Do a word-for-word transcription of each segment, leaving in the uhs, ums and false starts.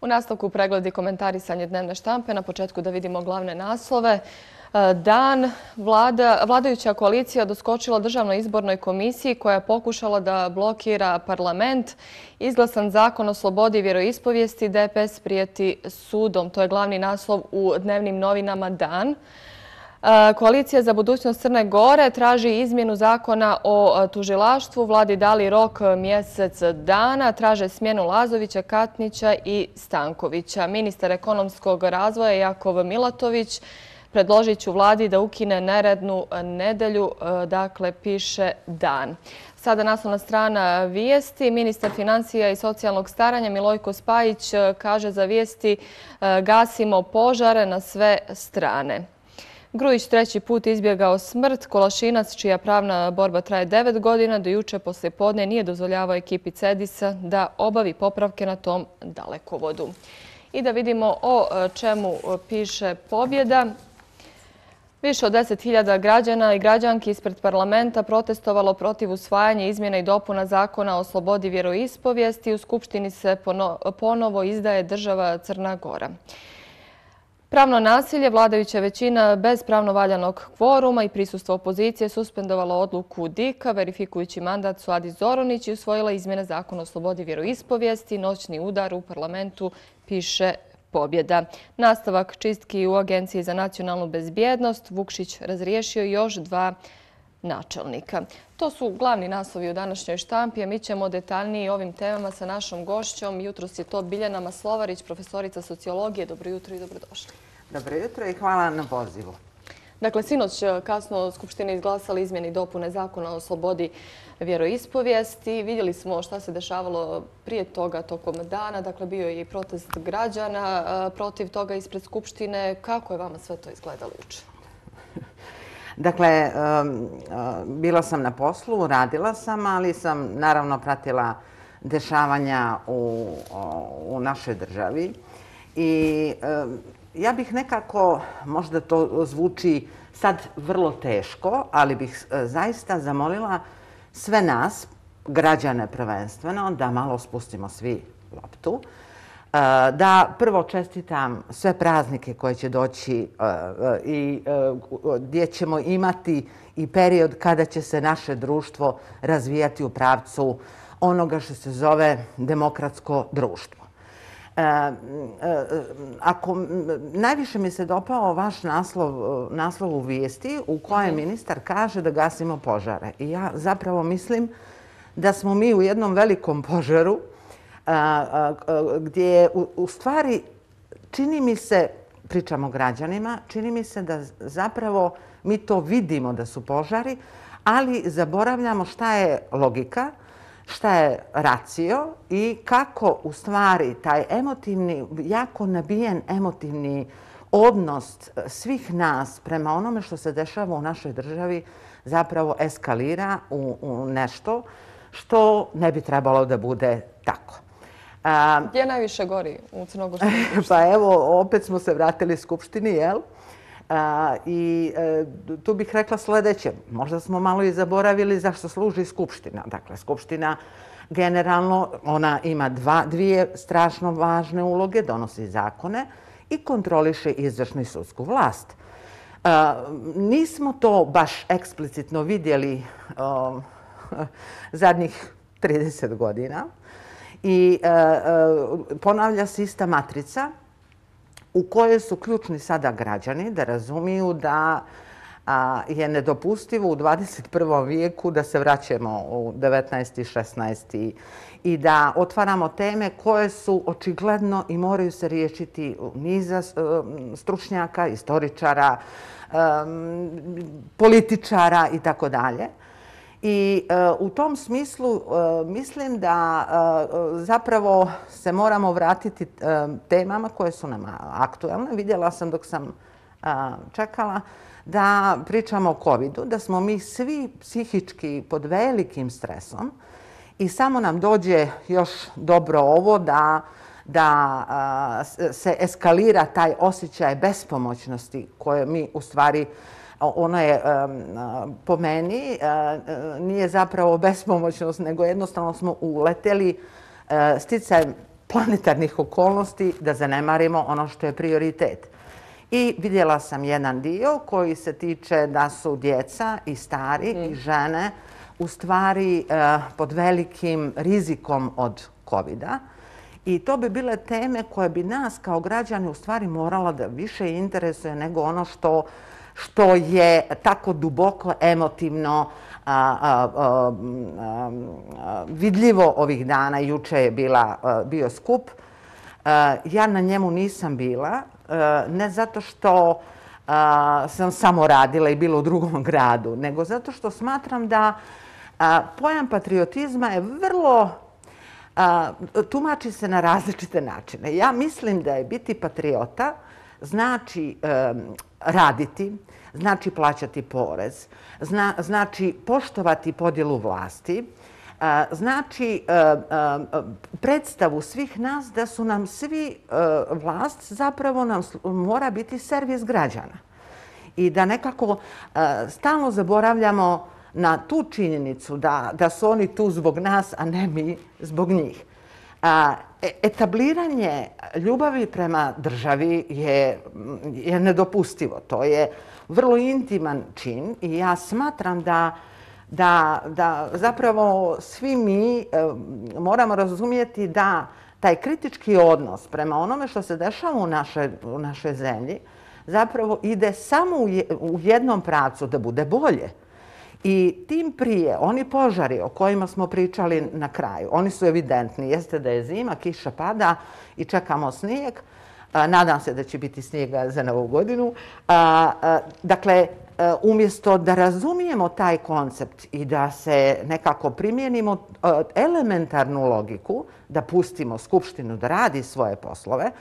U nastavku pregledi komentarisanje dnevne štampe. Na početku da vidimo glavne naslove. Dan vlada, vladajuća koalicija doskočila Državnoj izbornoj komisiji koja je pokušala da blokira parlament. Izglasan zakon o slobodi vjeroispovijesti, D P S prijeti sudom. To je glavni naslov u dnevnim novinama Dan. Koalicija za budućnost Crne Gore traži izmjenu zakona o tužilaštvu. Vladi dali rok mjesec dana. Traže smjenu Lazovića, Katnića i Stankovića. Ministar ekonomskog razvoja Jakov Milatović predložit ću vladi da ukine neradnu nedelju, dakle piše Dan. Sada naslovna strana vijesti. Ministar financija i socijalnog staranja Milojko Spajić kaže za vijesti gasimo požare na sve strane. Grujić treći put izbjegao smrt. Kolašinac, čija pravna borba traje devet godina, do juče poslijepodne nije dozvoljavao ekipi Cedisa da obavi popravke na tom dalekovodu. I da vidimo o čemu piše Pobjeda. Više od deset hiljada građana i građanki ispred parlamenta protestovalo protiv usvajanja izmjena i dopuna zakona o slobodi vjeroispovijesti. U Skupštini se ponovo izdaje država Crna Gora. Pravno nasilje, vladajuća većina bez pravno valjanog kvoruma i prisustvo opozicije suspendovala odluku D I K-a, verifikujući mandat Suadi Zoronić i usvojila izmjene zakona o slobodi vjeroispovijesti. Noćni udar u parlamentu, piše Pobjeda. Nastavak čistki u Agenciji za nacionalnu bezbjednost. Vukšić razriješio još dva načelnika. To su glavni naslovi u današnjoj štampi, a mi ćemo detaljnije ovim temama sa našom gošćom. Jutros je to Biljana Maslovarić, profesorica sociologije. Dobro jutro i dobrodošli. Dobro jutro i hvala na pozivu. Dakle, sinoć kasno Skupština izglasala izmjene i dopune zakona o slobodi vjeroispovijesti. Vidjeli smo šta se dešavalo prije toga tokom dana. Dakle, bio je i protest građana protiv toga ispred Skupštine. Kako je vama sve to izgledalo juče? Dakle, bila sam na poslu, radila sam, ali sam naravno pratila dešavanja u, u našoj državi. I ja bih nekako, možda to zvuči sad vrlo teško, ali bih zaista zamolila sve nas, građane prvenstveno, da malo spustimo svi loptu. Da prvo čestitam sve praznike koje će doći i gdje ćemo imati i period kada će se naše društvo razvijati u pravcu onoga što se zove demokratsko društvo. Ako najviše mi se dopao vaš naslov, naslov u vijesti u kojem ministar kaže da gasimo požare. I ja zapravo mislim da smo mi u jednom velikom požaru gdje u stvari čini mi se, pričamo o građanima, čini mi se da zapravo mi to vidimo da su požari, ali zaboravljamo šta je logika, šta je racio i kako u stvari taj emotivni, jako nabijen emotivni odnos svih nas prema onome što se dešava u našoj državi zapravo eskalira u, u nešto što ne bi trebalo da bude tako. Gdje najviše gori u Crnogorskoj skupštini? Pa evo, opet smo se vratili Skupštini, jel? I tu bih rekla sljedeće. Možda smo malo i zaboravili zašto služi Skupština. Dakle, Skupština generalno, ona ima dva, dvije strašno važne uloge, donosi zakone i kontroliše izvršnu i sudsku vlast. Nismo to baš eksplicitno vidjeli zadnjih trideset godina. I e, e, ponavlja se ista matrica u kojoj su ključni sada građani da razumiju da a, je nedopustivo u dvadeset prvom vijeku da se vraćamo u devetnaesti. šesnaesti. i da otvaramo teme koje su očigledno i moraju se riješiti niza stručnjaka, istoričara, političara i tako dalje. I u tom smislu mislim da zapravo se moramo vratiti temama koje su nam aktualne. Vidjela sam dok sam čekala da pričamo o covidu, da smo mi svi psihički pod velikim stresom i samo nam dođe još dobro ovo da, da se eskalira taj osjećaj bespomoćnosti koje mi u stvari ono je po meni nije zapravo bespomoćnost, nego jednostavno smo uleteli sticajem planetarnih okolnosti da zanemarimo ono što je prioritet. I vidjela sam jedan dio koji se tiče da su djeca i stari i žene u stvari pod velikim rizikom od kovida. I to bi bile teme koje bi nas kao građani u stvari morala da više interesuje nego ono što, što je tako duboko emotivno a, a, a, a, vidljivo ovih dana. Juče je bila, a, bio skup. A, ja na njemu nisam bila, a, ne zato što a, sam samo radila i bila u drugom gradu, nego zato što smatram da a, pojam patriotizma je vrlo A, tumači se na različite načine. Ja mislim da je biti patriota znači um, raditi, znači plaćati porez, zna, znači poštovati podjelu vlasti, uh, znači uh, uh, predstavu svih nas da su nam svi uh, vlast zapravo nam mora biti servis građana. I da nekako uh, stalno zaboravljamo na tu činjenicu da, da su oni tu zbog nas, a ne mi zbog njih. A, etabliranje ljubavi prema državi je, je nedopustivo. To je vrlo intiman čin i ja smatram da, da, da zapravo svi mi e, moramo razumjeti da taj kritički odnos prema onome što se dešava u našoj, u našoj zemlji zapravo ide samo u, je, u jednom pravcu da bude bolje. I tim prije, oni požari o kojima smo pričali na kraju, oni su evidentni. Jeste da je zima, kiša pada i čekamo snijeg. Nadam se da će biti snijega za Novu godinu. Dakle, umjesto da razumijemo taj koncept i da se nekako primijenimo elementarnu logiku, da pustimo Skupštinu da radi svoje poslove,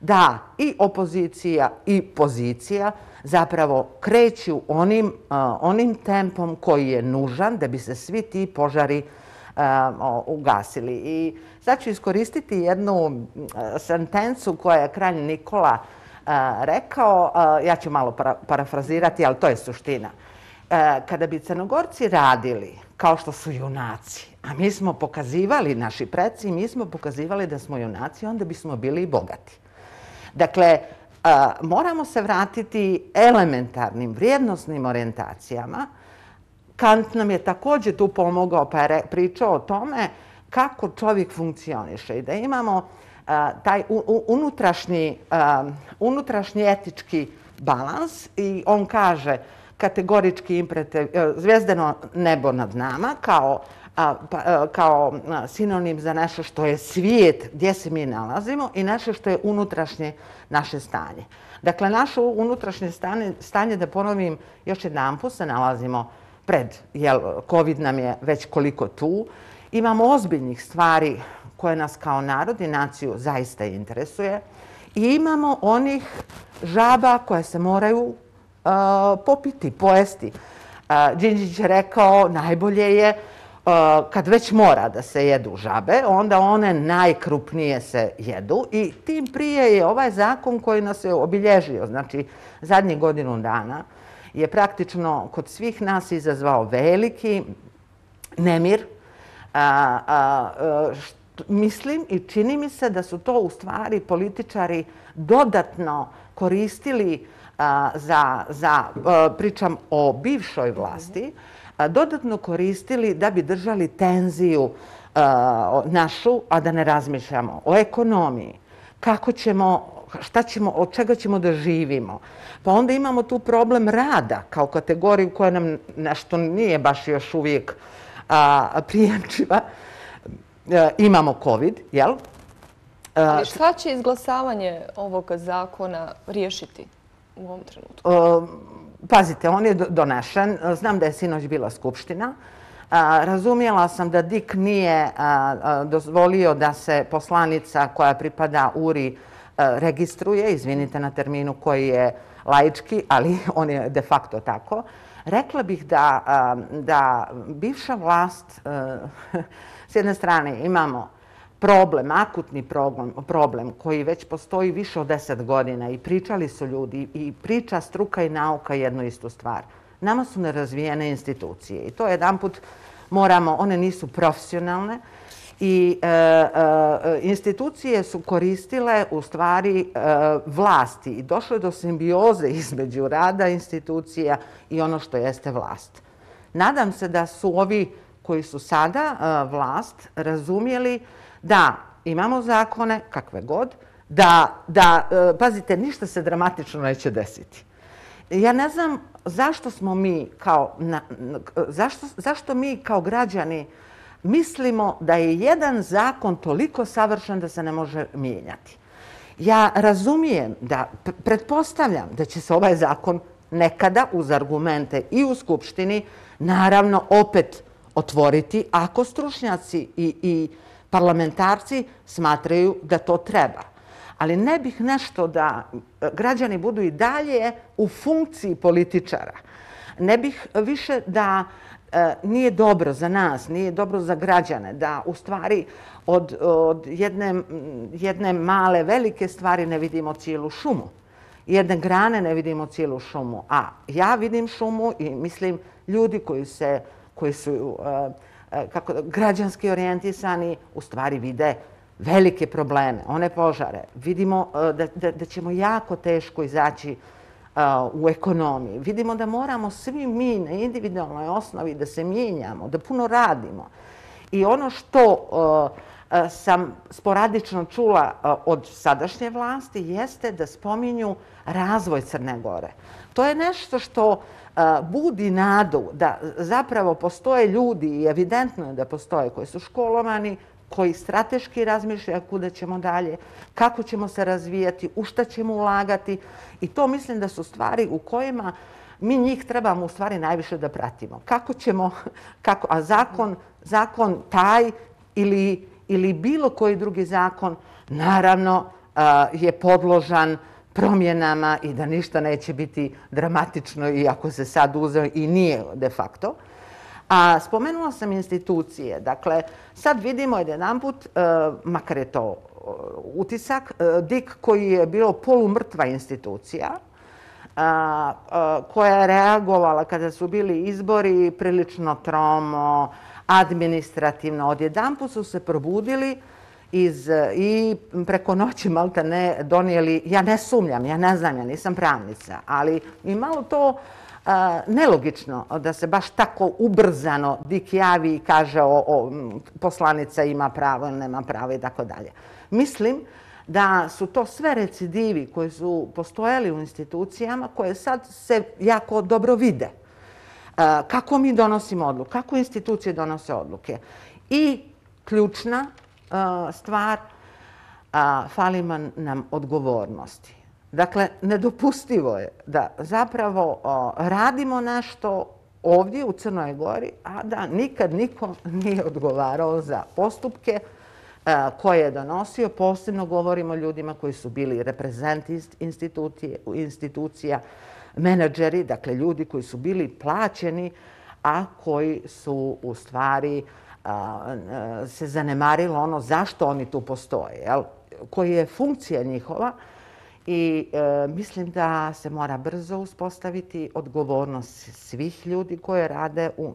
da i opozicija i pozicija zapravo kreću onim, uh, onim tempom koji je nužan da bi se svi ti požari uh, ugasili. I sad ću iskoristiti jednu uh, sentencu koja je kralj Nikola uh, rekao, uh, ja ću malo para, parafrazirati, ali to je suština. Uh, kada bi Crnogorci radili kao što su junaci, a mi smo pokazivali, naši preci, mi smo pokazivali da smo junaci, onda bismo bili i bogati. Dakle, a, moramo se vratiti elementarnim, vrijednosnim orijentacijama. Kant nam je također tu pomogao pa je pričao o tome kako čovjek funkcioniše i da imamo a, taj u, u, unutrašnji, a, unutrašnji etički balans i on kaže kategorički imperativ, zvijezdeno nebo nad nama kao A, pa, a, kao a, sinonim za nešto što je svijet gdje se mi nalazimo i nešto što je unutrašnje naše stanje. Dakle, naše unutrašnje stanje, stanje da ponovim još jedan put, se nalazimo pred, jel, COVID nam je već koliko tu. Imamo ozbiljnih stvari koje nas kao narod i naciju zaista interesuje i imamo onih žaba koje se moraju a, popiti, pojesti. A, Đinđić je rekao najbolje je kad već mora da se jedu žabe, onda one najkrupnije se jedu i tim prije je ovaj zakon koji nas je obilježio, znači zadnjih godinu dana, je praktično kod svih nas izazvao veliki nemir. A, a, št, mislim i čini mi se da su to u stvari političari dodatno koristili a, za, za a, pričam o bivšoj vlasti, dodatno koristili da bi držali tenziju uh, našu, a da ne razmišljamo o ekonomiji, kako ćemo, šta ćemo, od čega ćemo da živimo. Pa onda imamo tu problem rada kao kategoriju koja nam nešto nije baš još uvijek uh, prijemčiva. Uh, imamo COVID, jel? Uh, Ali šta će izglasavanje ovog zakona riješiti u ovom trenutku? Uh, Pazite, on je donešen. Znam da je sinoć bila skupština. Razumjela sam da D I K nije dozvolio da se poslanica koja pripada U R I registruje, izvinite na terminu koji je laički, ali on je de facto tako. Rekla bih da, da bivša vlast, s jedne strane imamo problem, akutni problem, problem koji već postoji više od deset godina i pričali su ljudi i priča struka i nauka jednu istu stvar. Nama su nerazvijene institucije i to jedan put moramo, one nisu profesionalne I e, e, institucije su koristile u stvari e, vlasti i došlo je do simbioze između rada institucija i ono što jeste vlast. Nadam se da su ovi koji su sada e, vlast razumjeli da imamo zakone, kakve god, da, da e, pazite, ništa se dramatično neće desiti. Ja ne znam zašto smo mi kao, na, zašto, zašto mi kao građani mislimo da je jedan zakon toliko savršen da se ne može mijenjati. Ja razumijem da, pretpostavljam da će se ovaj zakon nekada uz argumente i u Skupštini naravno opet otvoriti ako stručnjaci i, i parlamentarci smatraju da to treba. Ali ne bih nešto da građani budu i dalje u funkciji političara. Ne bih više da e, nije dobro za nas, nije dobro za građane, da u stvari od, od jedne, jedne male, velike stvari ne vidimo cijelu šumu. Jedne grane ne vidimo cijelu šumu. A ja vidim šumu i mislim ljudi koji, se, koji su e, kako, građanski orijentisani u stvari vide velike probleme, one požare. Vidimo da, da, da ćemo jako teško izaći uh, u ekonomiji. Vidimo da moramo svi mi na individualnoj osnovi da se mijenjamo, da puno radimo. I ono što uh, uh, sam sporadično čula uh, od sadašnje vlasti jeste da spominju razvoj Crne Gore. To je nešto što uh, budi nadu da zapravo postoje ljudi i evidentno je da postoje koji su školovani, koji strateški razmišljaju kuda ćemo dalje, kako ćemo se razvijati, u šta ćemo ulagati. I to mislim da su stvari u kojima mi njih trebamo u stvari najviše da pratimo. Kako ćemo, kako, a zakon, zakon taj ili, ili bilo koji drugi zakon naravno je podložan promjenama i da ništa neće biti dramatično iako se sad uzeo i nije de facto. A spomenula sam institucije. Dakle, sad vidimo jedanput, makar je to utisak, D I K koji je bilo polumrtva institucija, koja je reagovala kada su bili izbori prilično tromo, administrativno. Odjedanput su se probudili iz, i preko noći malta ne donijeli, ja ne sumnjam, ja ne znam, ja nisam pravnica, ali i malo to nelogično da se baš tako ubrzano D I K javi i kaže o, o, poslanica ima pravo ili nema pravo i tako dalje. Mislim da su to sve recidivi koji su postojali u institucijama koje sad se jako dobro vide. Kako mi donosimo odluke, kako institucije donose odluke. I ključna stvar, fali nam odgovornosti. Dakle, nedopustivo je da zapravo o, radimo nešto ovdje u Crnoj Gori, a da nikad niko nije odgovarao za postupke a, koje je donosio. Posebno govorimo o ljudima koji su bili reprezenti institucija, menadžeri, dakle ljudi koji su bili plaćeni, a koji su u stvari a, a, se zanemarilo ono zašto oni tu postoje, jel? Koji je funkcija njihova. I e, mislim da se mora brzo uspostaviti odgovornost svih ljudi koji rade u, u,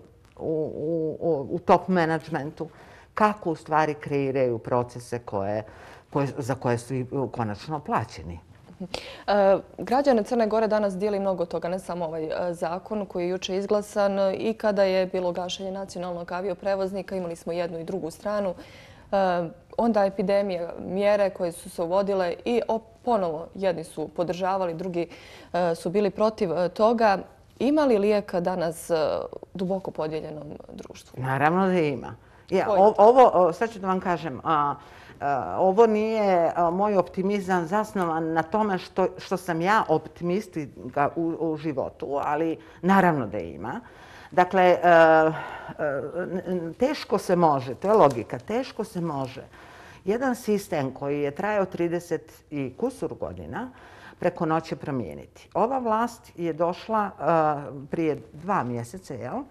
u, u top managementu, kako u stvari kreiraju procese koje, koje, za koje su i konačno plaćeni. E, građane Crne Gore danas dijeli mnogo toga, ne samo ovaj zakon koji je juče izglasan i kada je bilo gašenje nacionalnog avioprevoznika, imali smo jednu i drugu stranu. E, onda epidemije, mjere koje su se uvodile i ponovo jedni su podržavali, drugi e, su bili protiv toga. Ima li lijeka danas duboko podijeljenom društvu? Naravno da ima. Ja, ovo, sad ću da vam kažem, a, a, ovo nije a, moj optimizam zasnovan na tome što, što sam ja optimistika u, u životu, ali naravno da ima. Dakle, teško se može, to je logika, teško se može jedan sistem koji je trajao trideset i kusur godina preko noći promijeniti. Ova vlast je došla prije dva mjeseca, jel?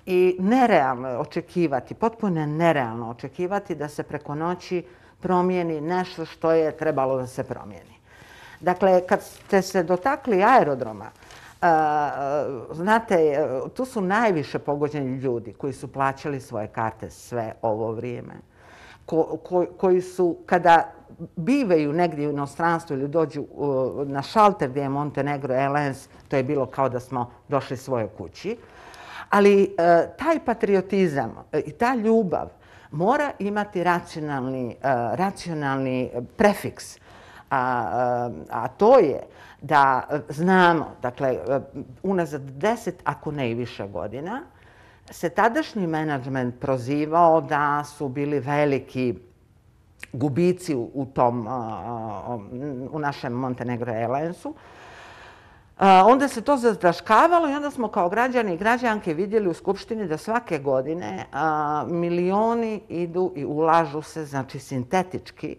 I nerealno je očekivati, potpuno nerealno očekivati da se preko noći promijeni nešto što je trebalo da se promijeni. Dakle, kad ste se dotakli aerodroma, znate, tu su najviše pogođeni ljudi koji su plaćali svoje karte sve ovo vrijeme, koji su, kada bivaju negdje u inostranstvu ili dođu na šalter gdje je Montenegro Airlines, to je bilo kao da smo došli svojoj kući. Ali taj patriotizam i ta ljubav mora imati racionalni prefiks, a to je da znamo, dakle, unazad deset, ako ne i više godina, se tadašnji menadžment prozivao da su bili veliki gubici u tom, u našem Montenegro Airlinesu. Onda se to zataškavalo i onda smo kao građani i građanke vidjeli u Skupštini da svake godine milioni idu i ulažu se, znači sintetički,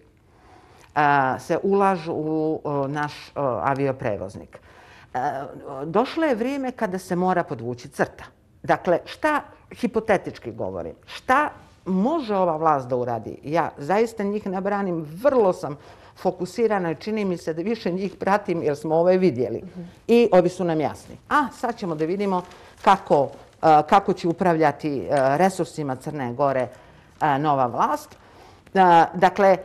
se ulažu u naš avioprevoznik. Došlo je vrijeme kada se mora podvući crta. Dakle, šta, hipotetički govorim, šta može ova vlast da uradi? Ja zaista njih ne branim, vrlo sam fokusirana i čini mi se da više njih pratim jer smo ove vidjeli. I ovi su nam jasni. A sad ćemo da vidimo kako, kako će upravljati resursima Crne Gore nova vlast. Dakle,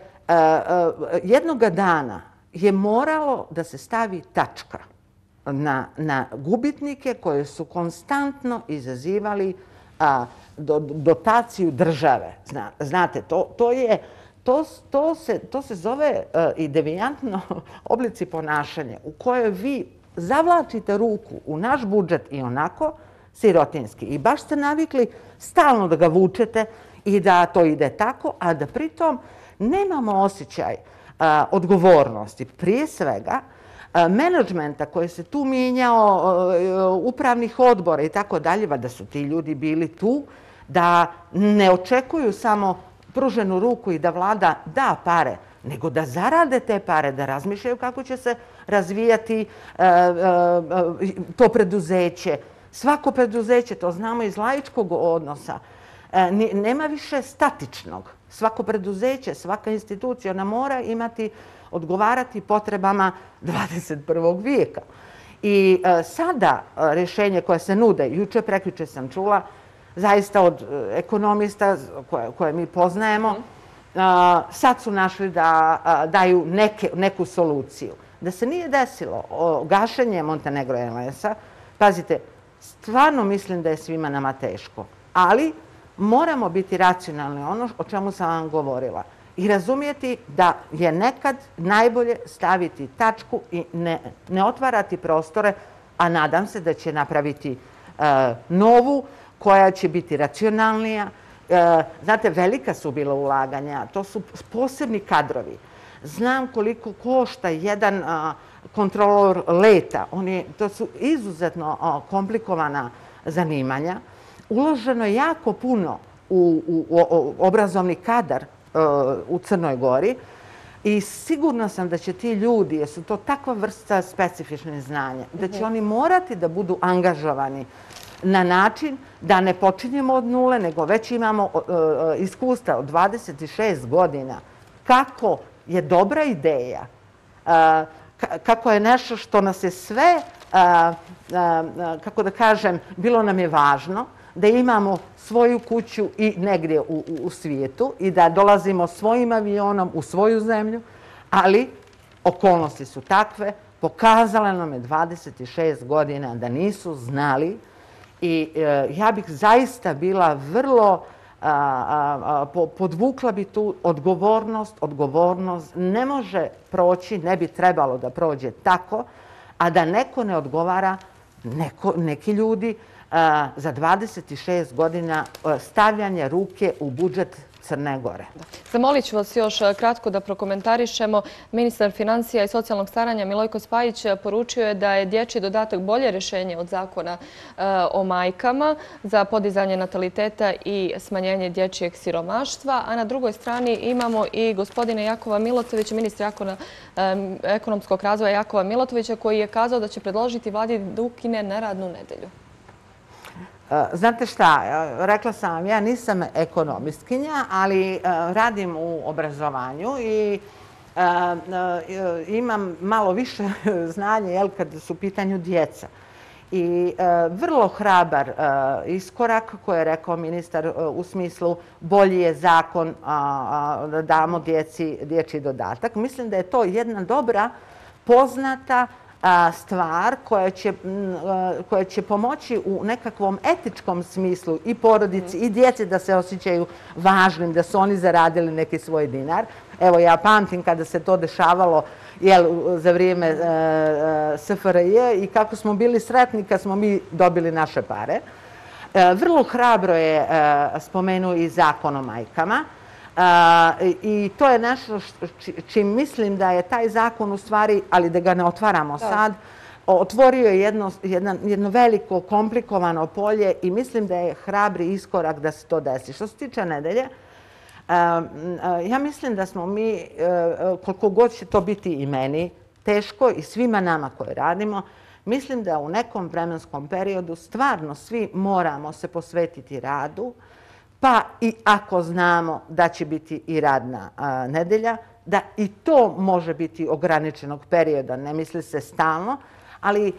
jednoga dana je moralo da se stavi tačka na, na gubitnike koje su konstantno izazivali a, do, dotaciju države. Zna, znate, to, to, je, to, to, se, to se zove a, i devijantno oblici ponašanja u kojoj vi zavlačite ruku u naš budžet i onako sirotinski. I baš ste navikli stalno da ga vučete i da to ide tako, a da pritom nemamo osjećaj a, odgovornosti. Prije svega, menadžmenta koji se tu mijenjao, upravnih odbora i tako dalje, da su ti ljudi bili tu, da ne očekuju samo pruženu ruku i da vlada da pare, nego da zarade te pare, da razmišljaju kako će se razvijati to preduzeće. Svako preduzeće, to znamo iz laičkog odnosa, nema više statičnog. Svako preduzeće, svaka institucija, ona mora imati, odgovarati potrebama dvadeset prvog vijeka. I sada rješenje koje se nude, juče, prekjuče sam čula, zaista od ekonomista koje mi poznajemo, sad su našli da daju neku soluciju. Da se nije desilo gašenje Montenegro Airlinesa, pazite, stvarno mislim da je svima nama teško, ali moramo biti racionalni, ono o čemu sam vam govorila, i razumijeti da je nekad najbolje staviti tačku i ne, ne otvarati prostore, a nadam se da će napraviti e, novu koja će biti racionalnija. E, znate, velika su bila ulaganja, to su posebni kadrovi. Znam koliko košta jedan a, kontrolor leta, on je, to su izuzetno a, komplikovana zanimanja. Uloženo je jako puno u, u, u obrazovni kadar u Crnoj Gori i sigurna sam da će ti ljudi, jer su to takva vrsta specifičnih znanja, da će oni morati da budu angažovani na način da ne počinjemo od nule, nego već imamo iskustva od dvadeset šest godina kako je dobra ideja, kako je nešto što nas je sve, kako da kažem, bilo nam je važno, da imamo svoju kuću i negdje u, u, u svijetu i da dolazimo svojim avionom u svoju zemlju, ali okolnosti su takve, pokazala nam je dvadeset šest godina da nisu znali i e, ja bih zaista bila vrlo, a, a, a, podvukla bi tu odgovornost, odgovornost ne može proći, ne bi trebalo da prođe tako, a da neko ne odgovara, neko, neki ljudi, za dvadeset šest godina stavljanja ruke u budžet Crne Gore. Zamolit ću vas još kratko da prokomentarišemo. Ministar financija i socijalnog staranja Milojko Spajić poručio je da je dječji dodatak bolje rješenje od zakona o majkama za podizanje nataliteta i smanjenje dječjeg siromaštva. A na drugoj strani imamo i gospodina Jakova Milotovića, ministra ekonomskog razvoja Jakova Milotovića, koji je kazao da će predložiti vladi da ukine neradnu nedelju. Znate šta, rekla sam vam, ja nisam ekonomistkinja, ali radim u obrazovanju i imam malo više znanja kad su u pitanju djeca. i vrlo hrabar iskorak koji je rekao ministar u smislu bolji je zakon da damo djeci dječji dodatak. Mislim da je to jedna dobra, poznata stvar koja će pomoći u nekakvom etičkom smislu i porodici i djeci da se osjećaju važnim, da su oni zaradili neki svoj dinar. Evo, ja pamtim kada se to dešavalo za vrijeme S F R J i kako smo bili sretni kad smo mi dobili naše pare. Vrlo hrabro je spomenuo i zakon o majkama. I to je nešto čim mislim da je taj zakon u stvari, ali da ga ne otvaramo sad, otvorio je jedno veliko, komplikovano polje i mislim da je hrabri iskorak da se to desi. Što se tiče nedelje, ja mislim da smo mi, koliko god će to biti i meni, teško i svima nama koji radimo, mislim da u nekom vremenskom periodu stvarno svi moramo se posvetiti radu, pa i ako znamo da će biti i radna nedelja, da i to može biti ograničenog perioda, ne misli se stalno, ali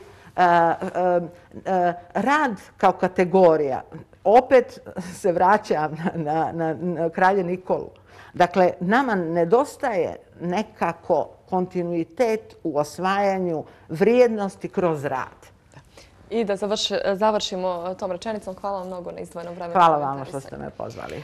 rad kao kategorija opet se vraća na kralja Nikolu. Dakle, nama nedostaje nekako kontinuitet u osvajanju vrijednosti kroz rad. I da završimo tom rečenicom. Hvala vam mnogo na izdvojenom vremenu. Hvala vam što ste me pozvali.